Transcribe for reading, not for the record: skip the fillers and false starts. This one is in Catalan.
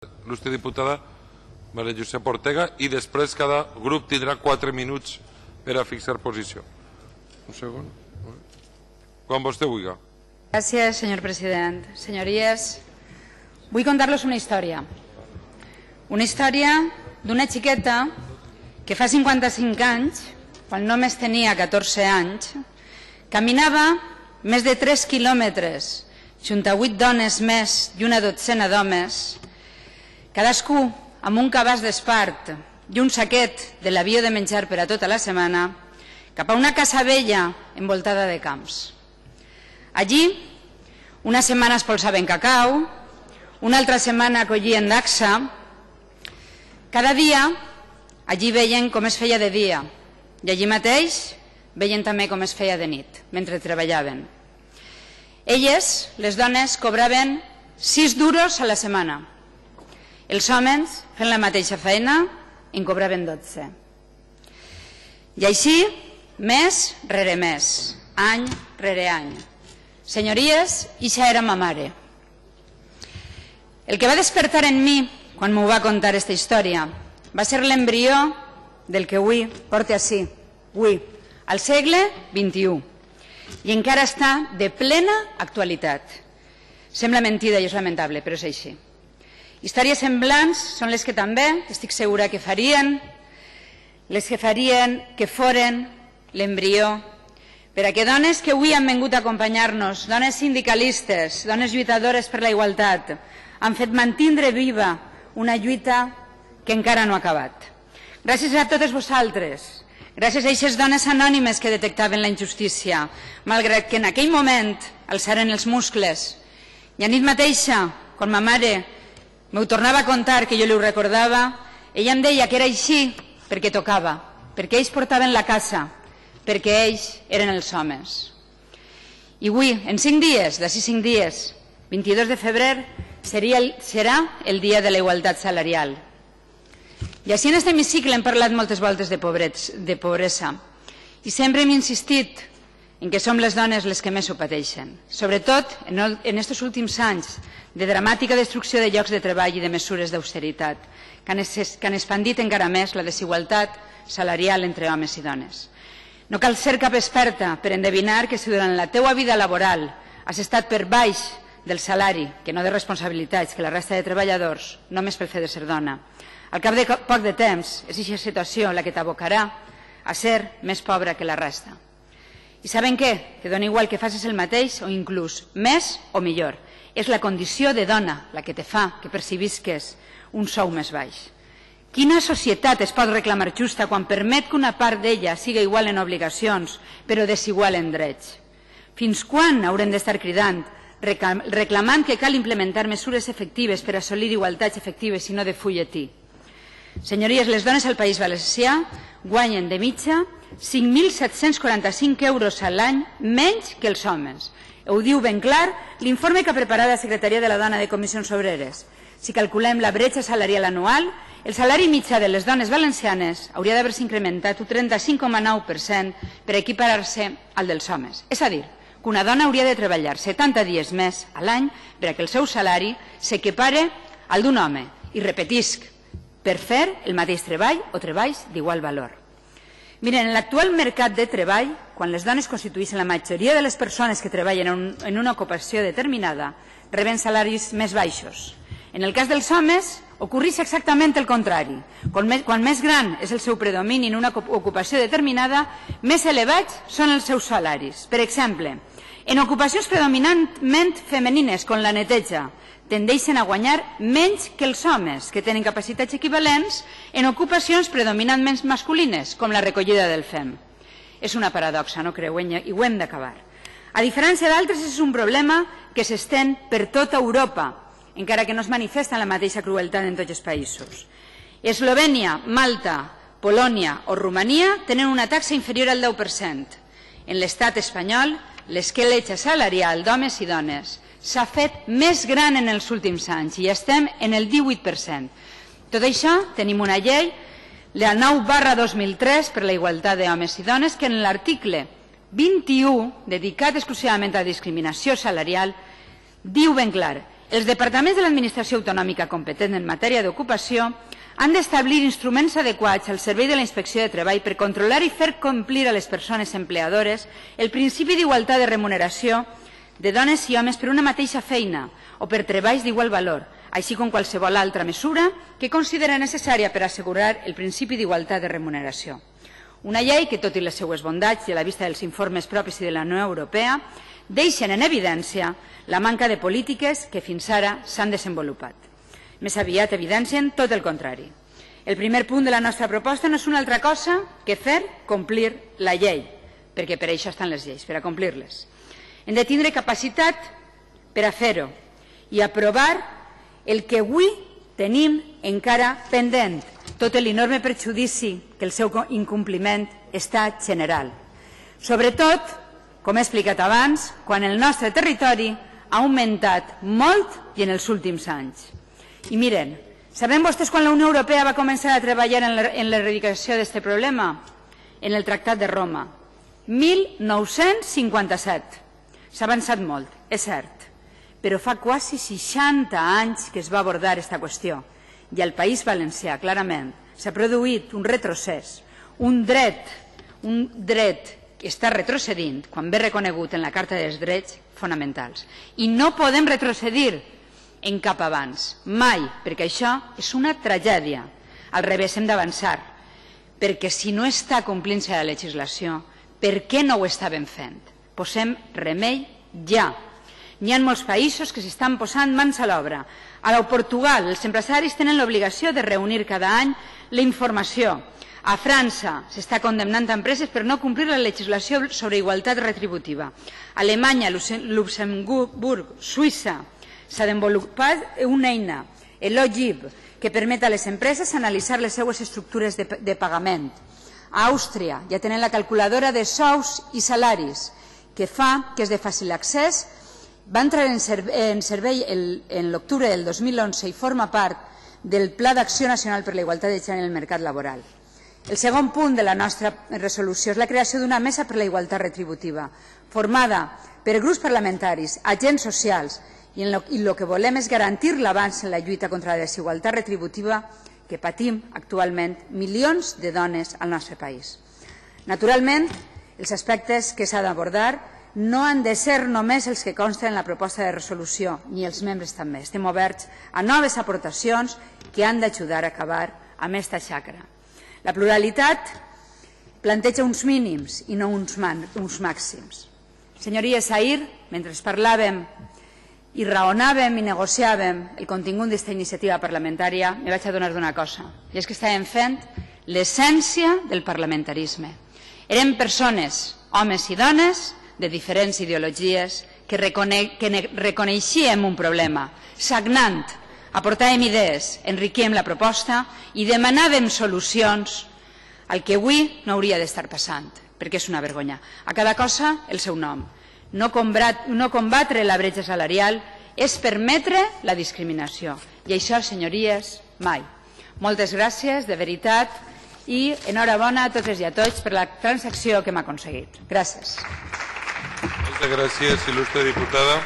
il·lustre diputada Maria Josep Ortega, i després cada grup tindrà 4 minuts per a fixar posició. Un segon. Quan vostè vulgui. Gràcies, senyor president. Senyories, vull contar-los una història. Una història d'una xiqueta que fa 55 anys, quan només tenia 14 anys, caminava més de 3 quilòmetres junt a 8 dones més i una dotzena d'homes, cadascú amb un cabàs d'espart i un saquet de l'avió de menjar per a tota la setmana, cap a una casa vella envoltada de camps. Allí, una setmana espolsaven cacau, una altra setmana collien dacsa. Cada dia, allí veien com es feia de dia i allí mateix veien també com es feia de nit, mentre treballaven. Elles, les dones, cobraven 6 duros a la setmana. Els homes, fent la mateixa feina, en cobraven 12. I així, mes rere mes, any rere any. Senyories, ixa era ma mare. El que va despertar en mi, quan m'ho va contar aquesta història, va ser l'embrió del que avui porta ací, avui, al segle XXI, i encara està de plena actualitat. Sembla mentida i és lamentable, però és així. Històries semblants són les que també, estic segura que farien, que foren l'embrió per a que dones que avui han vingut a acompanyar-nos, dones sindicalistes, dones lluitadores per la igualtat, han fet mantindre viva una lluita que encara no ha acabat. Gràcies a totes vosaltres, gràcies a aquestes dones anònimes que detectaven la injustícia, malgrat que en aquell moment alçaren els muscles. I a nit mateixa, quan ma mare m'ho tornava a contar, que jo li ho recordava, ella em deia que era així perquè tocava, perquè ells portaven la casa, perquè ells eren els homes. I avui, en 5 dies, d'ací 5 dies, 22 de febrer, serà el dia de la igualtat salarial. I així en aquest hemicicle hem parlat moltes voltes de pobresa i sempre hem insistit en que som les dones les que més ho pateixen, sobretot en aquests últims anys de dramàtica destrucció de llocs de treball i de mesures d'austeritat que han expandit encara més la desigualtat salarial entre homes i dones. No cal ser cap experta per endevinar que si durant la teua vida laboral has estat per baix del salari, que no de responsabilitats, que la resta de treballadors, només pel fet de ser dona, al cap de poc de temps és aquesta situació la que t'abocarà a ser més pobra que la resta. I saben què? Que dona igual que facis el mateix o inclús més o millor. És la condició de dona la que te fa que percibisques un sou més baix. Quina societat es pot reclamar justa quan permet que una part d'ella siga igual en obligacions però desigual en drets? Fins quan haurem d'estar cridant, reclamant que cal implementar mesures efectives per assolir igualtats efectives i no de fulletí? Senyories, les dones al País Valencià guanyen de mitja 5.745 euros a l'any menys que els homes. Ho diu ben clar l'informe que ha preparat la Secretaria de la Dona de Comissions Obreres. Si calculem la bretxa salarial anual, el salari mitjà de les dones valencianes hauria d'haver-se incrementat un 35,9% per equiparar-se al dels homes. És a dir, que una dona hauria de treballar 70 dies més a l'any per a que el seu salari s'equipare al d'un home. I repetisc, per fer el mateix treball o treballs d'igual valor. Miren, en l'actual mercat de treball, quan les dones constitueixen la majoria de les persones que treballen en una ocupació determinada, reben salaris més baixos. En el cas dels homes, ocorreix exactament el contrari. Quan més gran és el seu predomini en una ocupació determinada, més elevats són els seus salaris. Per exemple, en ocupacions predominantment femenines, com la neteja, tendeixen a guanyar menys que els homes, que tenen capacitats equivalents en ocupacions predominantment masculines, com la recollida del fem. És una paradoxa, no creu? I ho hem d'acabar. A diferència d'altres, és un problema que s'estén per tota Europa, encara que no es manifesta en la mateixa crueltat en tots els països. Eslovènia, Malta, Polònia o Romania tenen una taxa inferior al 10%. En l'estat espanyol, l'esqueletge salarial d'homes i dones s'ha fet més gran en els últims anys i estem en el 18%. Tot això, tenim una llei, la 9/2003 per la igualtat d'homes i dones, que en l'article 21, dedicat exclusivament a la discriminació salarial, diu ben clar: Els departaments de l'administració autonòmica competent en matèria d'ocupació han d'establir instruments adequats al servei de la Inspecció de Treball per controlar i fer complir a les persones empleadores el principi d'igualtat de remuneració de dones i homes per una mateixa feina o per treballs d'igual valor, així com qualsevol altra mesura que considera necessària per assegurar el principi d'igualtat de remuneració. Una llei que, tot i les seues bondats i a la vista dels informes propis i de la Unió Europea, deixen en evidència la manca de polítiques que fins ara s'han desenvolupat. Més aviat evidencien tot el contrari. El primer punt de la nostra proposta no és una altra cosa que fer complir la llei, perquè per això estan les lleis, per a complir-les. Hem de tindre capacitat per a fer-ho i aprovar el que avui tenim encara pendent, tot l'enorme perjudici que el seu incompliment està general. Sobretot, com he explicat abans, quan el nostre territori ha augmentat molt i en els últims anys. I miren, saben vostès quan la Unió Europea va començar a treballar en l'erradicació d'aquest problema? En el Tractat de Roma, 1957. S'ha avançat molt, és cert, però fa quasi 60 anys que es va abordar aquesta qüestió i al País Valencià, clarament, s'ha produït un retrocés, un dret que està retrocedint quan ve reconegut en la Carta dels Drets Fonamentals. I no podem retrocedir en cap abans, mai, perquè això és una tragèdia. Al revés, hem d'avançar, perquè si no està complint-se la legislació, per què no ho estaven fent? Posem remei ja. N'hi ha molts països que s'estan posant mans a l'obra. A Portugal, els empresaris tenen l'obligació de reunir cada any la informació. A França s'està condemnant empreses per no complir la legislació sobre igualtat retributiva. A Alemanya, Luxemburg, Suïssa s'ha desenvolupat una eina, l'OGIP, que permet a les empreses analitzar les seues estructures de pagament. A Àustria ja tenen la calculadora de sous i salaris, que fa que és de fàcil accés, va entrar en servei en l'octubre del 2011 i forma part del Pla d'Acció Nacional per la Igualtat de Gènere en el Mercat Laboral. El segon punt de la nostra resolució és la creació d'una mesa per la igualtat retributiva, formada per grups parlamentaris, agents socials, i el que volem és garantir l'avanç en la lluita contra la desigualtat retributiva que patim actualment milions de dones al nostre país. Naturalment, els aspectes que s'ha d'abordar no han de ser només els que consten en la proposta de resolució, ni els membres també. Estem oberts a noves aportacions que han d'ajudar a acabar amb aquesta xacra. La pluralitat planteja uns mínims i no uns màxims. Senyories, ahir, mentre parlàvem i raonàvem i negociàvem el contingut d'aquesta iniciativa parlamentària, me vaig adonar d'una cosa, i és que estàvem fent l'essència del parlamentarisme. Érem persones, homes i dones, de diferents ideologies, que reconeixíem un problema, sagnant, aportàvem idees, enriquíem la proposta i demanàvem solucions al que avui no hauria d'estar passant, perquè és una vergonya. A cada cosa el seu nom. No combatre la bretxa salarial és permetre la discriminació. I això, senyories, mai. Moltes gràcies, de veritat, i enhorabona a totes i a tots per la transacció que hem aconseguit. Gràcies. Moltes gràcies, il·lustre diputada.